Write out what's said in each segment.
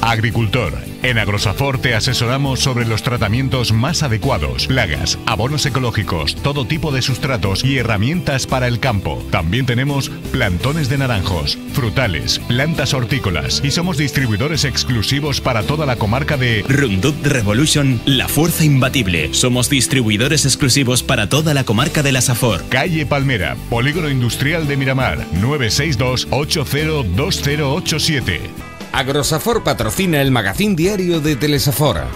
Agricultor. En Agrosafor te asesoramos sobre los tratamientos más adecuados, plagas, abonos ecológicos, todo tipo de sustratos y herramientas para el campo. También tenemos plantones de naranjos, frutales, plantas hortícolas y somos distribuidores exclusivos para toda la comarca de Roundup Revolution, la fuerza imbatible. Somos distribuidores exclusivos para toda la comarca de la Safor. Calle Palmera, Polígono Industrial de Miramar, 962 802087. Agrosafor patrocina el magazín diario de Telesafora.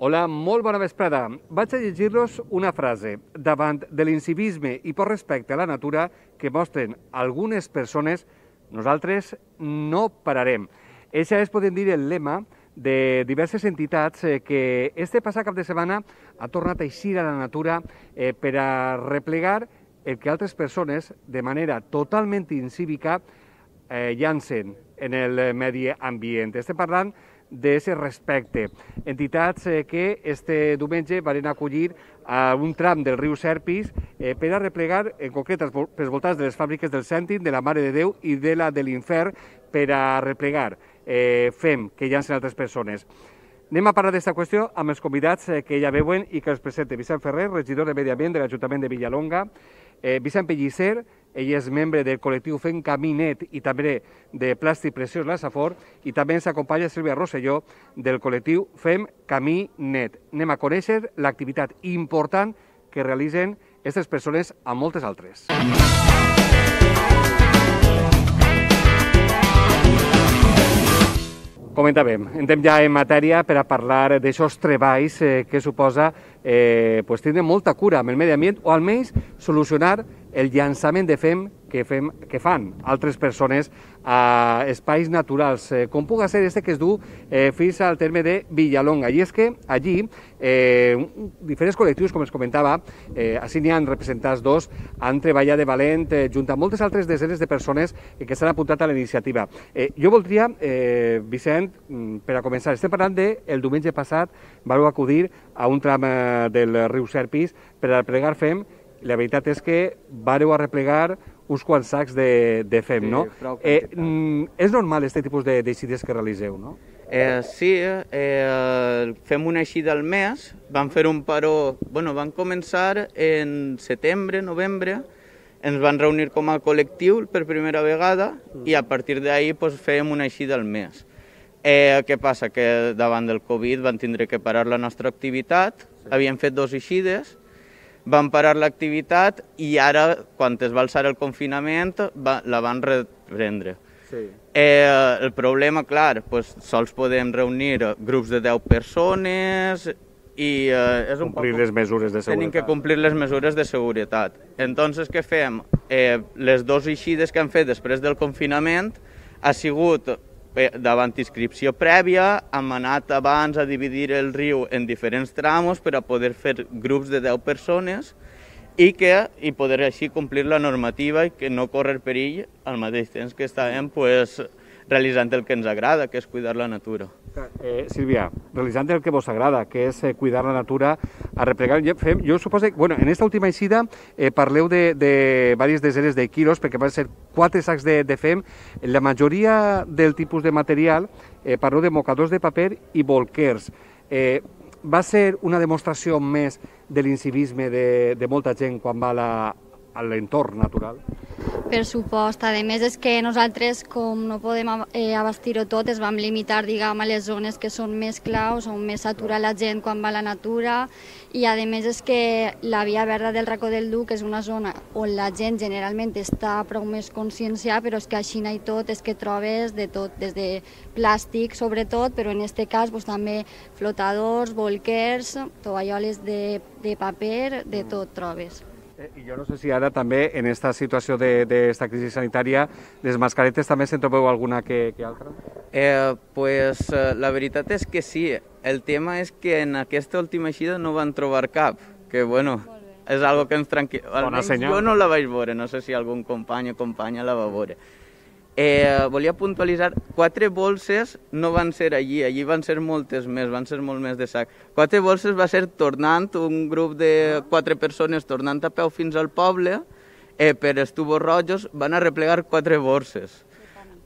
Hola, molt bona vesprada. Vaig a llegir-los una frase. Davant de l'incivisme i per respecte a la natura que mostren algunes persones, nosaltres no pararem. Això és, podem dir, el lema de diverses entitats que este passat cap de setmana ha tornat a eixir a la natura per a replegar el que altres persones, de manera totalment incívica, llancen en el medi ambient. Estem parlant d'aquest respecte. Entitats que este diumenge van acollir a un tram del riu Serpis per a replegar, en concret, pels voltants de les fàbriques del Cèntim, de la Mare de Déu i de la de l'Infern, per a replegar fem que llancen altres persones. Anem a parlar d'aquesta qüestió amb els convidats que ja veuen i que els presenta Vicent Ferrer, regidor de Medi Ambient de l'Ajuntament de Villalonga, Vicent Pellicer, ell és membre del col·lectiu Fem Camí Net i també de Plàstic Preciós La Safor, i també ens acompanya Sílvia Rosselló del col·lectiu Fem Camí Net. Anem a conèixer l'activitat important que realitzen aquestes persones a moltes altres. Comentàvem, entrem ja en matèria per a parlar d'aixòs treballs que suposa tindre molta cura amb el medi ambient o almenys solucionar el llançament de fem que fan altres persones a espais naturals, com puga ser este que es du fins al terme de Villalonga. I és que allí diferents col·lectius, com es comentava, així n'hi ha representats dos, han treballat de valent junt a moltes altres desenes de persones que s'han apuntat a la iniciativa. Jo voldria, Vicent, per a començar, estem parlant del diumenge passat, vau acudir a un tram del riu Serpis per a replegar fem. La veritat és que vareu a replegar uns quants sacs de fem, no? És normal aquest tipus d'eixides que realiseu, no? Sí, fem una eixida al mes, vam fer un paró, van començar en setembre, novembre, ens van reunir com a col·lectiu per primera vegada i a partir d'ahir fèiem una eixida al mes. Què passa? Que davant del Covid van tindre que parar la nostra activitat, havíem fet 2 eixides, van parar l'activitat i ara, quan es va alçar el confinament, la van reprendre. El problema, clar, sols podem reunir grups de 10 persones i complir les mesures de seguretat. Tenim que complir les mesures de seguretat. Entonces, què fem? Les 2 eixides que han fet després del confinament ha sigut davant inscripció prèvia, hem anat abans a dividir el riu en diferents tramos per a poder fer grups de 10 persones i poder així complir la normativa i que no córrer perill al mateix temps que estàvem realitzant el que ens agrada, que és cuidar la natura. Sílvia, realitzant el que vos agrada, que és cuidar la natura, a replegar, jo suposo que, en aquesta última eixida parleu de diverses desenes de quilos, perquè van ser 4 sacs de fem. La majoria del tipus de material, parleu de mocadors de paper i bolquers. Va ser una demostració més de l'incivisme de molta gent quan va a l'entorn natural? Per supost. A més, és que nosaltres, com no podem abastir-ho tot, es vam limitar, diguem, a les zones que són més claus, on més s'atura la gent quan va a la natura, i a més és que la via verda del Racó del Duc és una zona on la gent generalment està prou més conscienciada, però és que així i tot és que trobes de tot, des de plàstic sobretot, però en aquest cas també flotadors, bolquers, tovalloles de paper, de tot trobes. I jo no sé si ara també, en aquesta situació d'esta crisi sanitària, les mascaretes també se'n trobeu alguna que altra? La veritat és que sí. El tema és que en aquesta última eixida no van trobar cap, que és algo que ens tranquil... Bona senyal. Jo no la vaig veure, no sé si algun company o companya la va veure. Volia puntualitzar, 4 bolses no van ser allí van ser moltes més, van ser molt més de sac. 4 bolses va ser tornant, un grup de 4 persones tornant a peu fins al poble, per els tubos rojos van arreplegar 4 borses.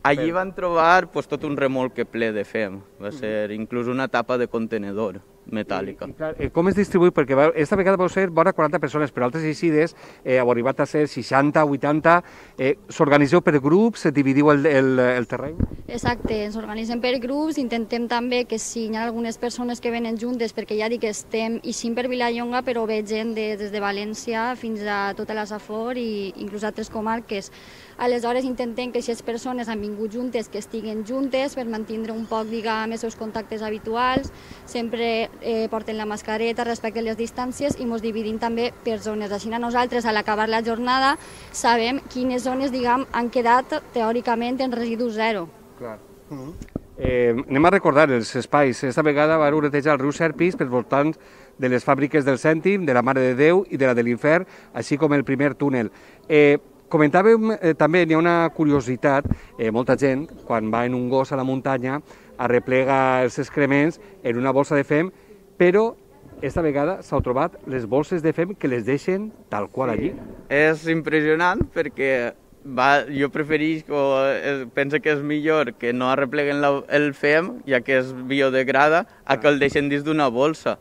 Allí van trobar tot un remolque ple de fem, va ser inclús una tapa de contenedor metàl·lica. Com es distribuïu? Perquè aquesta vegada vau ser vora 40 persones, però altres eixides heu arribat a ser 60, 80. S'organitzeu per grups, dividiu el terreny? Exacte, ens organitzem per grups, intentem també que si hi ha algunes persones que venen juntes, perquè ja dic que estem eixint per Vilallonga, però ve gent des de València fins a tota la Safor i inclús altres comarques. Aleshores intentem que aquestes persones han vingut juntes, que estiguen juntes per mantenir un poc, diguem, els seus contactes habituals, sempre porten la mascareta, respecten les distàncies i ens dividim també per zones. Així nosaltres, a l'acabar la jornada, sabem quines zones, diguem, han quedat teòricament en residu zero. Clar. Anem a recordar els espais. Esta vegada va oretejar el riu Serpis per voltants de les fàbriques del Cèntim, de la Mare de Déu i de la de l'Infern, així com el primer túnel. Comentàvem també, hi ha una curiositat, molta gent, quan va en un gos a la muntanya, arreplega els excrements en una bossa de fem, però esta vegada s'han trobat les bosses de fem que les deixen tal qual allí. És impressionant perquè jo penso que és millor que no arrepleguen el fem, ja que es biodegrada, a que el deixen dins d'una bolsa.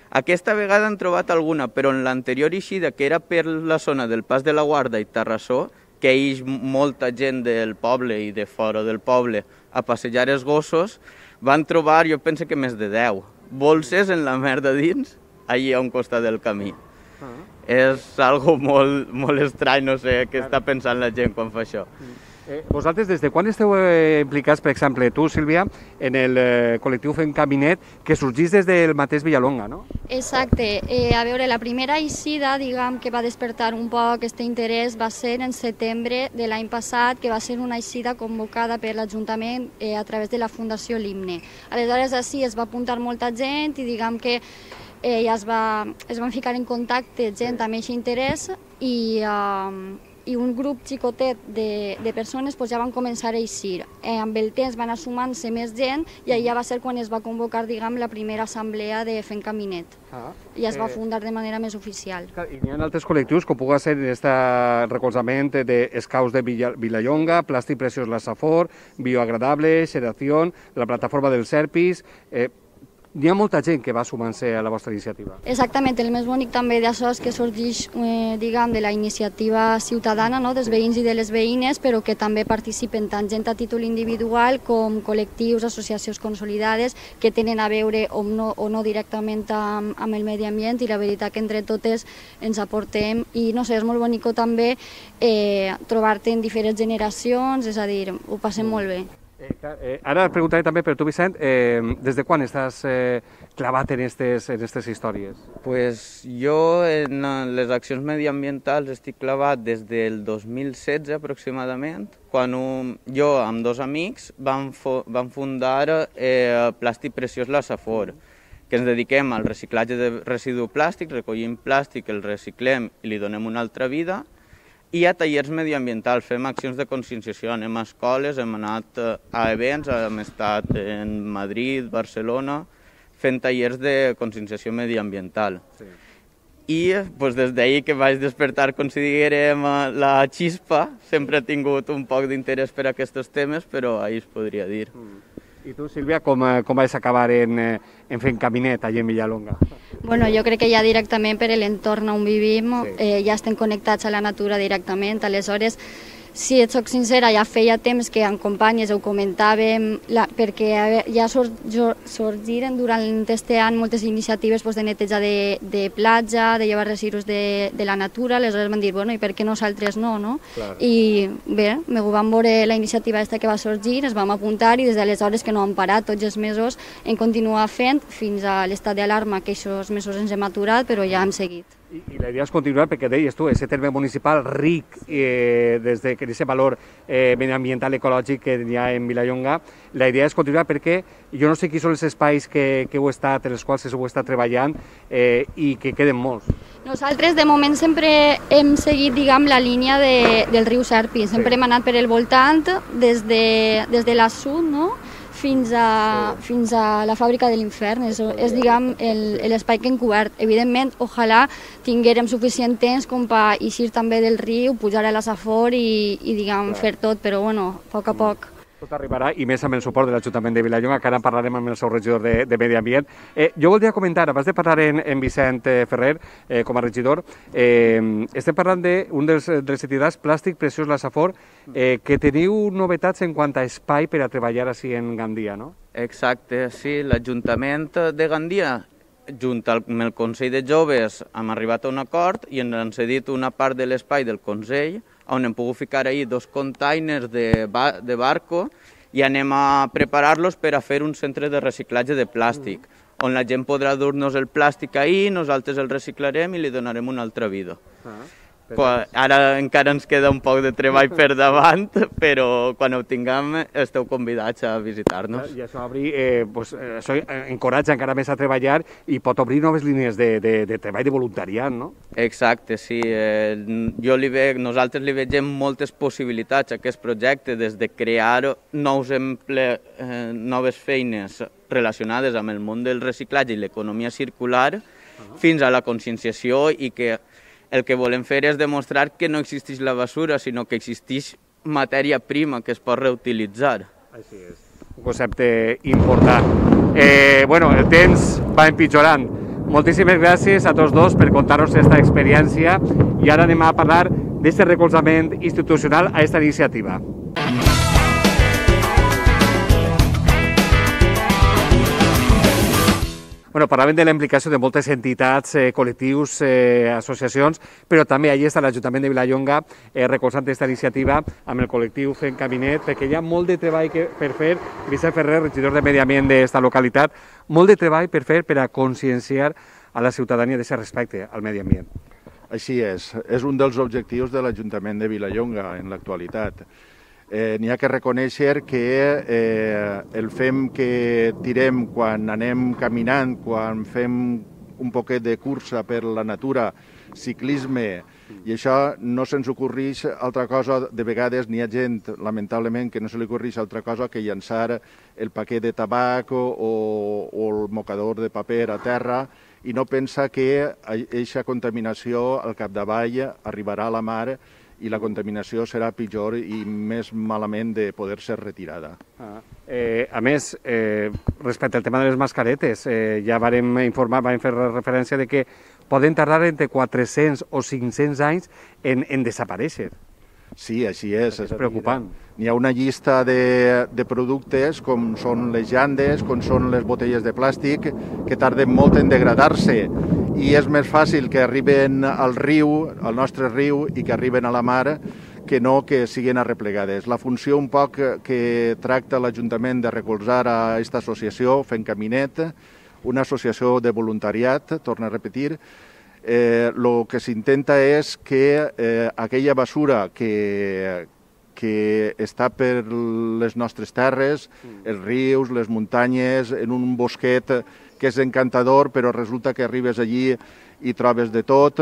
Aquesta vegada han trobat alguna, però en l'anterior eixida, que era per la zona del Pas de la Guarda i Terrassó, que ix molta gent del poble i de fora del poble a passejar els gossos, van trobar, jo penso que més de 10 bolses en la merda dins, allí a un costat del camí. És algo molt estrany, no sé què està pensant la gent quan fa això. Vosaltres, des de quan esteu implicats, per exemple, tu, Sílvia, en el col·lectiu Fem Caminet, que sorgís des del mateix Vilallonga, no? Exacte. A veure, la primera eixida, diguem, que va despertar un poc aquest interès va ser en setembre de l'any passat, que va ser una eixida convocada per l'Ajuntament a través de la Fundació L'Himne. Aleshores, així es va apuntar molta gent i diguem que ja es van ficar en contacte gent amb aquest interès i un grup xicotet de persones ja van començar a eixir. Amb el temps van anar sumant-se més gent i allà va ser quan es va convocar, diguem, la primera assemblea de Fem Caminet. I es va fundar de manera més oficial. I hi ha altres col·lectius, com pugui ser aquest recolzament d'Escaus de Vilallonga, Plàstic Preciós La Safor, Bioagradable, Xeración, la plataforma del Serpis. Hi ha molta gent que va sumant-se a la vostra iniciativa. Exactament, el més bonic també d'això és que sorgeix, diguem, de la iniciativa ciutadana, no?, dels veïns i de les veïnes, però que també participen tant gent a títol individual com col·lectius, associacions consolidades que tenen a veure o no directament amb el medi ambient, i la veritat que entre totes ens aportem i no sé, és molt bonic també trobar-te en diferents generacions, és a dir, ho passem molt bé. Ara et preguntaré també per tu, Vicent, des de quan estàs clavat en aquestes històries? Pues jo en les accions mediambientals estic clavat des del 2016 aproximadament, quan jo amb 2 amics vam fundar Plàstic Preciós La Safor, que ens dediquem al reciclatge de residu plàstic, recollim plàstic, el reciclem i li donem una altra vida, i a tallers mediambientals, fem accions de conscienciació, anem a escoles, hem anat a events, hem estat en Madrid, Barcelona, fent tallers de conscienciació mediambiental. I des d'ahir que vaig despertar, com si diguérem, la xispa, sempre he tingut un poc d'interès per aquests temes, però ahir es podria dir. I tu, Sílvia, com vas acabar en Fem Caminet, allà en Vilallonga? Bueno, jo crec que ja directament per l'entorn on vivim ja estem connectats a la natura directament, aleshores, si et soc sincera, ja feia temps que amb companyes ho comentàvem, perquè ja sorgiren durant aquest any moltes iniciatives de neteja de platja, de llevar residus de la natura, aleshores vam dir, bueno, i per què nosaltres no? I bé, ho vam veure la iniciativa aquesta que va sorgir, ens vam apuntar i des d'aleshores que no hem parat, tots els mesos hem continuat fent fins a l'estat d'alarma, que aquests mesos ens hem aturat, però ja hem seguit. I la idea és continuar perquè deies tu, aquest terme municipal ric des de aquest valor mediambiental ecològic que hi ha en Vilallonga, la idea és continuar perquè jo no sé quins són els espais que heu estat, en els quals heu estat treballant i que queden molts. Nosaltres de moment sempre hem seguit, diguem, la línia del riu Serpi, sempre hem anat per el voltant des de la sud, no?, fins a la fàbrica de l'infern. És diguem, l'espai que hem cobert. Evidentment, ojalà tinguérem suficient temps com per eixir també del riu, pujar a la Safor i diguem, fer tot, però bueno, a poc a poc. Tot arribarà, i més amb el suport de l'Ajuntament de Vilallonga, que ara parlarem amb el seu regidor de Medi Ambient. Jo voldria comentar, abans de parlar en Vicent Ferrer, com a regidor, estem parlant d'un dels entitats plàstic preciós, la Safor, que teniu novetats en quant a espai per a treballar així en Gandia, no? Exacte, sí. L'Ajuntament de Gandia, junt amb el Consell de Joves, hem arribat a un acord i ens han cedit una part de l'espai del Consell on hem pogut ficar ahir 2 containers de barco i anem a preparar-los per a fer un centre de reciclatge de plàstic, on la gent podrà dur-nos el plàstic ahir, nosaltres el reciclarem i li donarem una altra vida. Ara encara ens queda un poc de treball per davant, però quan ho tinguem esteu convidats a visitar-nos. I això això encoratja encara més a treballar i pot obrir noves línies de treball de voluntariat, no? Exacte, sí. Nosaltres li vegem moltes possibilitats a aquest projecte, des de crear noves feines relacionades amb el món del reciclatge i l'economia circular, fins a la conscienciació i que el que volem fer és demostrar que no existeix la basura, sinó que existeix matèria prima que es pot reutilitzar. Així és, un concepte important. El temps va empitjorant. Moltíssimes gràcies a tots dos per contar-nos aquesta experiència i ara anem a parlar d'aquest recolzament institucional a aquesta iniciativa. Parlàvem de la implicació de moltes entitats, col·lectius, associacions, però també allà està l'Ajuntament de Vilallonga recolzant aquesta iniciativa amb el col·lectiu Fent Caminet, perquè hi ha molt de treball per fer. Vicent Ferrer, regidor de Medi Ambient d'aquesta localitat, molt de treball per fer per a conscienciar a la ciutadania d'aquest respecte al medi ambient. Així és un dels objectius de l'Ajuntament de Vilallonga en l'actualitat. N'hi ha que reconèixer que el fem que tirem quan anem caminant, quan fem un poquet de cursa per la natura, ciclisme, i això no se'ns ocorreix altra cosa. De vegades n'hi ha gent, lamentablement, que no se li ocorreix altra cosa que llançar el paquet de tabac o el mocador de paper a terra i no pensa que aquesta contaminació al capdavall arribarà a la mar i la contaminació serà pitjor i més malament de poder ser retirada. A més, respecte al tema de les mascaretes, ja vam fer referència de que poden tardar entre 400 o 500 anys en desaparèixer. Sí, així és. És preocupant. N'hi ha una llista de productes, com són les llandes, com són les botelles de plàstic, que tarden molt en degradar-se i és més fàcil que arriben al riu, al nostre riu, i que arriben a la mar, que no que siguin arreplegades. La funció un poc que tracta l'Ajuntament de recolzar a aquesta associació, Fent Caminet, una associació de voluntariat, torno a repetir, el que s'intenta és que aquella basura que està per les nostres terres, els rius, les muntanyes, en un bosquet que és encantador, però resulta que arribes allí i trobes de tot,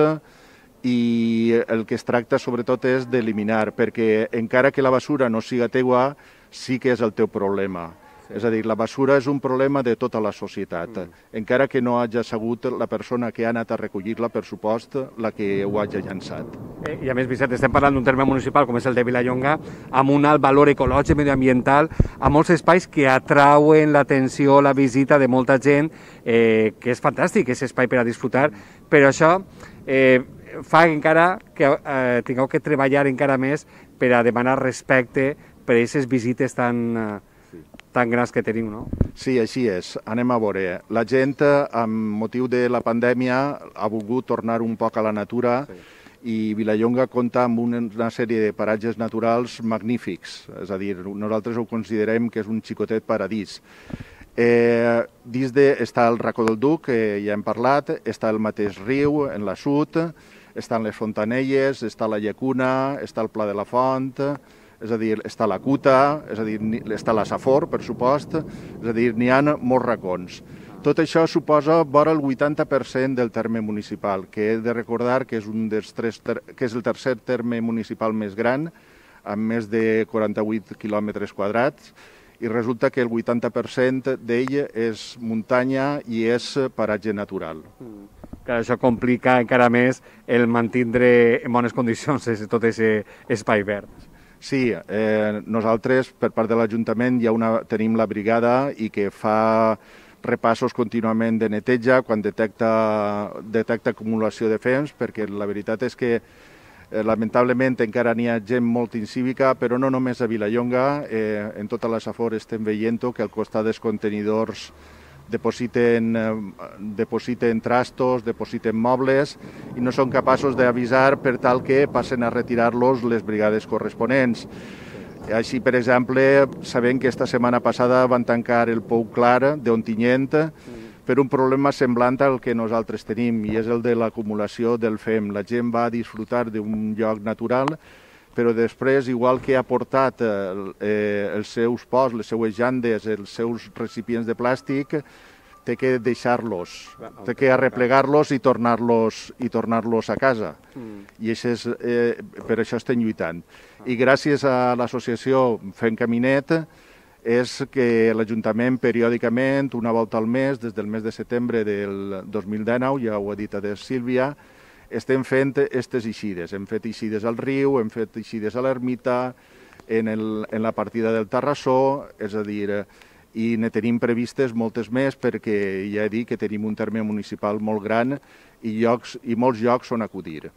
i el que es tracta sobretot és d'eliminar, perquè encara que la basura no siga teua, sí que és el teu problema. És a dir, la basura és un problema de tota la societat, encara que no hagi sigut la persona que ha anat a recollir-la, per supost, la que ho hagi llançat. I a més, Vicent, estem parlant d'un terme municipal com és el de Vilallonga, amb un alt valor ecològic, medioambiental, amb molts espais que atrauen l'atenció, la visita de molta gent, que és fantàstic, és espai per a disfrutar, però això fa encara que tingueu que treballar encara més per a demanar respecte per a aquestes visites tan grans que teniu, no? Sí, així és. Anem a veure. La gent, amb motiu de la pandèmia, ha volgut tornar un poc a la natura i Vilallonga compta amb una sèrie de paratges naturals magnífics. És a dir, nosaltres ho considerem que és un xicotet paradís. Està el Racó del Duc, que ja hem parlat, està el mateix riu, en l'assut, estan les Fontanelles, està la Llacuna, està el Pla de la Font, és a dir, està la Cuta, és a dir, està la Safor, per supost, és a dir, n'hi ha molts racons. Tot això suposa vora el 80% del terme municipal, que he de recordar que és el tercer terme municipal més gran, amb més de 48 quilòmetres quadrats, i resulta que el 80% d'ell és muntanya i és paratge natural. Que això complica encara més el mantindre en bones condicions tot aquest espai verd. Sí, nosaltres, per part de l'Ajuntament, tenim la brigada i que fa repassos contínuament de neteja quan detecta acumulació de fems, perquè la veritat és que lamentablement encara n'hi ha gent molt incívica, però no només a Vilallonga, en tota la Safor estem veient que al costat dels contenidors depositen trastos, depositen mobles i no són capaços d'avisar per tal que passen a retirar-los les brigades corresponents. Així, per exemple, sabem que esta setmana passada van tancar el Pou Clar d'Ontinyent per un problema semblant al que nosaltres tenim, i és el de l'acumulació del fem. La gent va disfrutar d'un lloc natural, però després, igual que ha portat els seus pots, les seues llandes, els seus recipients de plàstic, té que deixar-los, té que arreplegar-los i tornar-los a casa. I per això estem lluitant. I gràcies a l'associació Fem Caminet és que l'Ajuntament periòdicament, una volta al mes, des del mes de setembre del 2019, ja ho ha dit Sílvia, estem fent aquestes eixides. Hem fet eixides al riu, hem fet eixides a l'ermita, en la partida del Tarrassó, és a dir, i ne tenim previstes moltes més perquè ja he dit que tenim un terme municipal molt gran i molts llocs on acudir.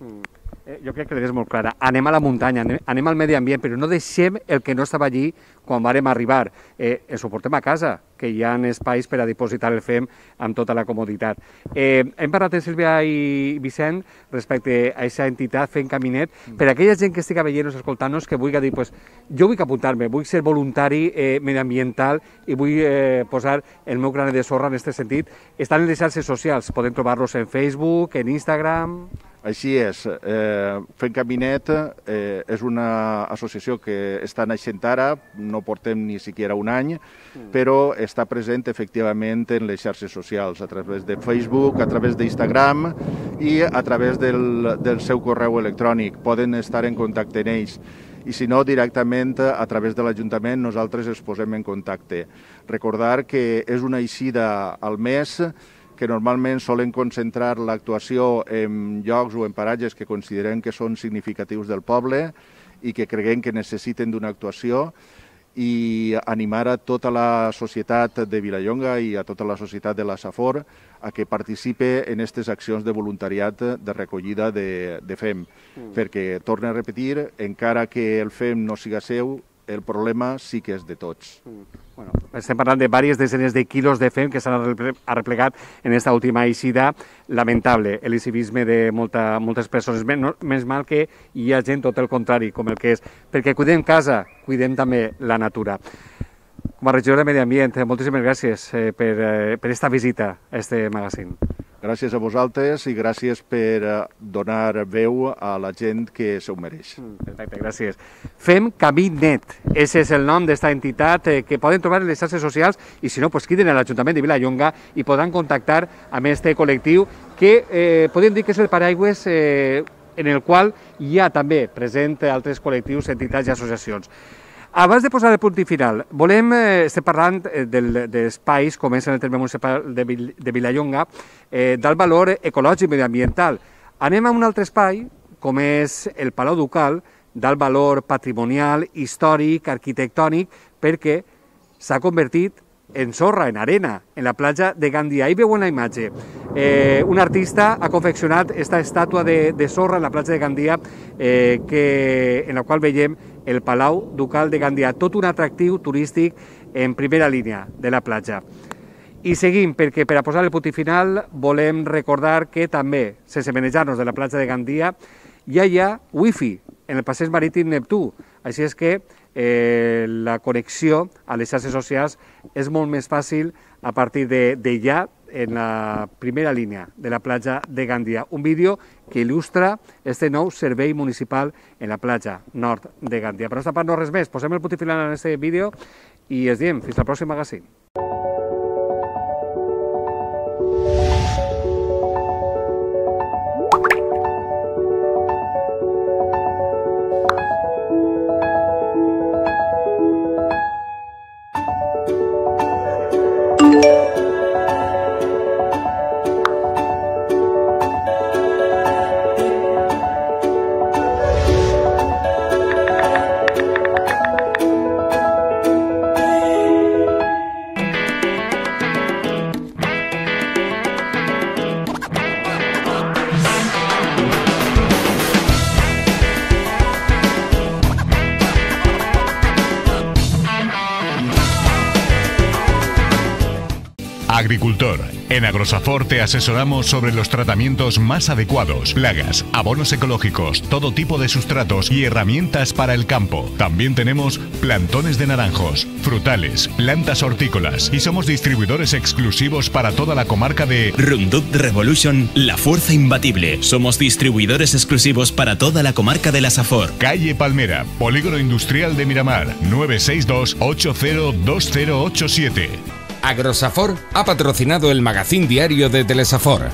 Jo crec que l'idea és molt clara. Anem a la muntanya, anem al medi ambient, però no deixem el que no estava allí quan vàrem arribar. Ens ho portem a casa, que hi ha espais per a dipositar el fem amb tota la comoditat. Hem parlat amb Sílvia i Vicent respecte a aquesta entitat Fem Caminet. Per a aquella gent que estigui veient-nos, escoltant-nos, que vulgui dir, jo vull apuntar-me, vull ser voluntari mediambiental i vull posar el meu granet de sorra en aquest sentit. Estan en les xarxes socials, podem trobar-los en Facebook, en Instagram... Així és. Fem Caminet és una associació que està naixent ara, no portem ni siquiera un any, però està present efectivament en les xarxes socials, a través de Facebook, a través d'Instagram i a través del seu correu electrònic. Poden estar en contacte amb ells. I si no, directament a través de l'Ajuntament nosaltres ens posem en contacte. Recordar que és una eixida al mes que normalment solen concentrar l'actuació en llocs o en paratges que considerem que són significatius del poble i que creguem que necessiten d'una actuació, i animar a tota la societat de Vilallonga i a tota la societat de la Safor a que participe en aquestes accions de voluntariat de recollida de fem. Perquè, torno a repetir, encara que el fem no siga seu, el problema sí que és de tots. Estem parlant de diverses desenes de quilos de fem que s'han arreplegat en aquesta última eixida lamentable, el civisme de moltes persones. Més mal que hi ha gent tot el contrari, com el que és. Perquè cuidem casa, cuidem també la natura. Com a regidor de Medi Ambient, moltíssimes gràcies per aquesta visita a aquest magazín. Gràcies a vosaltres i gràcies per donar veu a la gent que s'ho mereix. Perfecte, gràcies. Fem Caminet, ese és el nom d'esta entitat que poden trobar en les xarxes socials i si no, criden a l'Ajuntament de Vilallonga i podran contactar amb este col·lectiu que podem dir que és el paraigües en el qual hi ha també present altres col·lectius, entitats i associacions. Abans de posar el punt i final, estem parlant d'espais, com és en el terme municipal de Vilallonga, del valor ecològic i mediambiental. Anem a un altre espai, com és el Palau Ducal, del valor patrimonial, històric, arquitectònic, perquè s'ha convertit en sorra, en arena, en la platja de Gandia. Ahí veuen la imatge. Un artista ha confeccionat aquesta estàtua de sorra en la platja de Gandia, en la qual veiem el Palau Ducal de Gandia, tot un atractiu turístic en primera línia de la platja. I seguim, perquè per a posar el punt i final volem recordar que també, sense manejar-nos de la platja de Gandia, ja hi ha wifi en el passeig marítim Neptú. Així és que la connexió a les xarxes socials és molt més fàcil a partir d'allà, en la primera línia de la platja de Gandia. Un vídeo que il·lustra este nou servei municipal en la platja nord de Gandia. Per nostra part no res més, posem el punt i final en aquest vídeo i ens diem fins al pròxim magazín. Agricultor. En Agrosafor te asesoramos sobre los tratamientos más adecuados, plagas, abonos ecológicos, todo tipo de sustratos y herramientas para el campo. También tenemos plantones de naranjos, frutales, plantas hortícolas y somos distribuidores exclusivos para toda la comarca de Roundup Revolution, la fuerza imbatible. Somos distribuidores exclusivos para toda la comarca de la Safor. Calle Palmera, Polígono Industrial de Miramar, 962 802087. Agrosafor ha patrocinado el magazín diario de Telesafor.